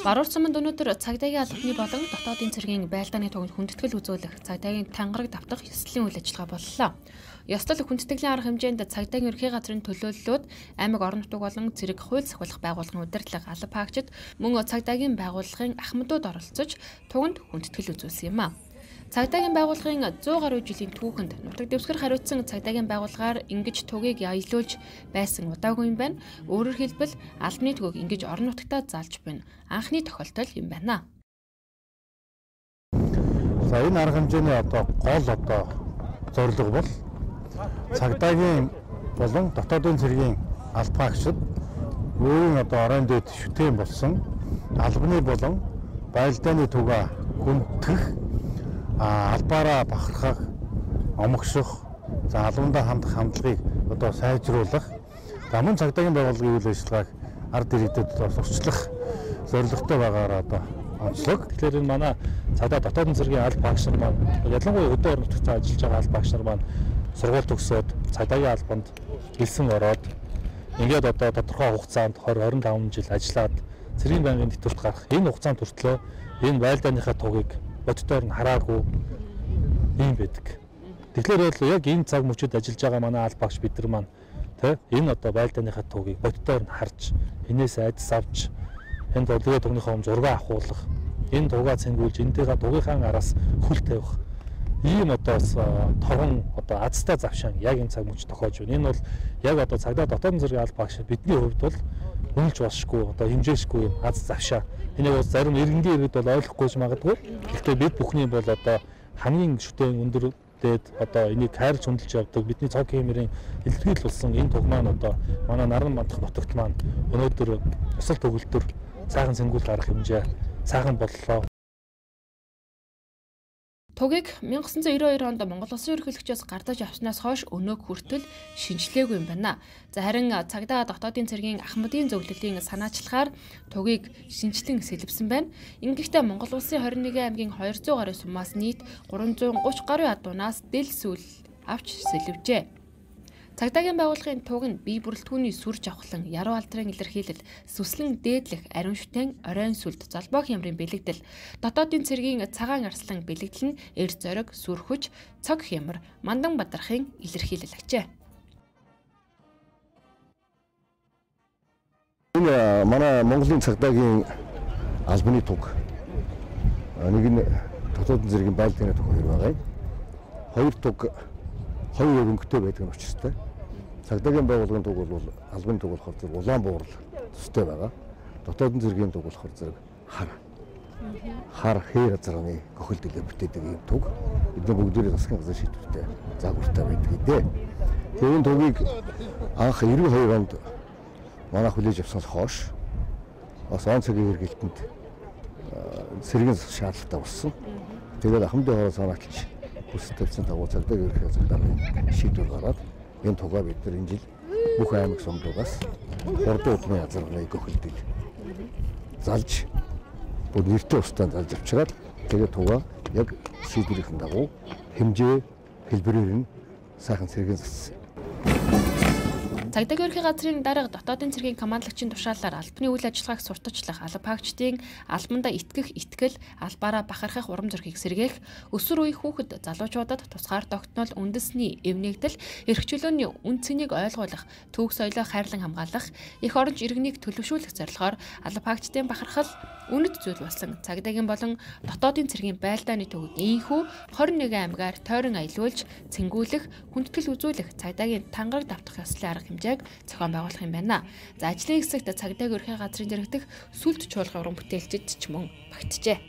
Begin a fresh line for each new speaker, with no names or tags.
Баруун цамд өнөөдөр цагдаагийн албаны болон дотоодын цэргийн байлдааны туганд хүндэтгэл үзүүлэх цагдаагийн тангараг давтах ёслолын үйл ажиллагаа боллоо. Ёслол хүндэтгэлийн арга хэмжээнд цагдаагийн ерхий газрын төлөөллүүд, аймаг орон нутаг болон цэрэг хууль сахиулах байгууллагын удирдлага алба хаагчид мөн цагдаагийн байгууллагын ахмадууд оролцож туганд хүндэтгэл үзүүлсэн юм а. Цагдаагийн байгууллагын 100 гаруй жилийн түүхэнд нутаг дэвсгэр хариуцсан цагдаагийн байгууллагаар ингэж тугийг аялуулж байсан удаагүй юм байна. Өөрөөр хэлбэл албаны төгөөг ингэж орон нутагтаа заалж байна. Анхны тохиолдол юм байна.
За энэ арга хэмжээний гол зорилго бол цагдаагийн болон дотоодын цэргийн албаагчид өөрийн орон дэд шүтээн болсон албаны болон байлдааны түгээ хүндэх албаараа бахархах, омогших, за албандаа хандах хандлагыг сайжруулах, мөн цагдаагийн байгууллагын үйл ажиллагааг ард иргэдэд сурчлах зорилготой байгаагаар онцлог. Тэгэхээр энэ манай цагдаа дотоодын цэргийн алба багш нар маань ялангуяа өдөө орон нутагт ажиллаж байгаа алба багш нар маань сургууль төгсөөд цагдаагийн албанд гэлсэн ороод ингээд тодорхой хугацаанд 20-25 жил ажиллаад цэргийн байнгын тэтгэврт гарах энэ хугацаанд хүртлээр энэ байлдааныхаа тугийг боддоор нь хараагүй юм байдаг. Тэгэхээр бол яг энэ цаг мөчид ажиллаж байгаа манай алба багш бид нар маань энэ байлдааныхаа тугийг боддоор нь харж энээс айдас авч энэ төлөвлөгөө төгнийхөө зураг авахуулах, энэ тугаа цэнгүүлж энтэйгээ тугийнхаа араас хөл тавих ийм торгон азтай завшаан яг энэ цаг мөч тохиож байна. Энэ бол яг цагдаа дотоодын цэргийн алба багш бидний хувьд бол үнэлж болшгүй хэмжээшгүй аз завшаа. Энийг бол зарим иргэнгийн иргэд бол ойлгохгүйж магадгүй. Гэхдээ бид бүхний бол хамгийн шүтээн өндөр дээд энийг хайрлж хөндлөж явдаг бидний цог хэмэрийн илэрхийлэл болсон энэ туг маань манай наран мандах нутагт маань өнөөдөр ёсол төгөлдөр сайхан цэнгүүл гарах хэмжээ сайхан боллоо.
Тугийг 1992 онд Монгол Улсын ерөнхийлөгчөөс гардаж авснаас хойш өнөөг хүртэл шинжилгээгүй юм байна. За харин цагдаа дотоодын цэргийн ахмадын зөвлөлийн санаачлахаар тугийг шинжилэн сэлбсэн байна. Ингэхдээ Монгол Улсын 21 аймгийн 200 гаруй сумаас нийт 330 гаруй адуунаас дэл сүүл авч сэлвжээ. Цагдаагийн байгууллагын туг нь бие бүрэлдэхүүний сүр жавхлан, яруу алдрын илэрхийлэл, сүслэн дээдлэх, ариун шүтэн, оройн сүлд, золбоо хямрын бэлэгдэл, дотоодын цэргийн цагаан арслан бэлэгдэл нь эр зориг, сүр хүч, цог хямар, мандан бадрахын илэрхийлэл ажээ.
Энэ манай Монголын цагдаагийн албаны туг. Нэг нь дотоодын цэргийн байлдааны туг хоёр байгаа юм. Хоёр туг хоёр өнгөтэй байдаг нь учиртай. Цагдаагийн байгууллагын туг бол албаны туг болохоор зэрэг улаан буурал төстэй байгаа. Дотоодын цэргийн туг болохоор зэрэг хар хээр газрын гохилдөлөөр бүтээдэг юм туг. Бидний бүгдээрээ засгийн газар шийдвэртэй загвартай байдаг дээ. Тэгээд тугийг анх 92 онд манай хүлээж авснаас хойш бас он цагийн хэрэгэлтэнд цэргийн шаардлагатай болсон. Тэгээд ахмадын хоороос санаачлж хүсэлт тавьсан дагуу цагдаагийн ерхий газрын шийдвэр гараад энэ тугаа бид нар энэ жил бүх аймаг сумдуугаас 3 удмын азарганы гохилдөл залж бүр нэртэй устдаа залж авчираад тэгээд тугаа яг шийдвэрийн дагуу хэмжээ хэлбэрээр нь сайхан цэргийн зассан.
Цагдаагийн ерхий газрын дарга дотоодын цэргийн командлагчийн тушаалаар албаны үйл ажиллагааг сурталчлах, алба хаагчдын албандаа итгэх, итгэл, албаараа бахархах урам зориг сэргээх, өсвөр үеийн хүүхэд залуучуудад тусгаар тогтнол үндэсний эвнэгдэл, эрх чөлөөний үн цэнийг ойлгуулах, түүх соёлоо хайрлан хамгаалах, эх оронч иргэнийг төлөвшүүлэх зорилгоор алба хаагчдын бахархал үнэт зүйл болсон. Цагдаагийн болон дотоодын цэргийн байлдааны төвөг ийхүү 21 аймгаар тойрон аялуулж, цэнгүүлэх, хүндэтгэл үзүүлэх, цагдаагийн тангараг давтах ёслолын арга хэмжээг зохион байгуулах юм байна. За ажлын хэсэгт цагдаагийн ерхий газрын дэргэдэх сүлд чуулган уран бүтээлчид ч мөн багтжээ.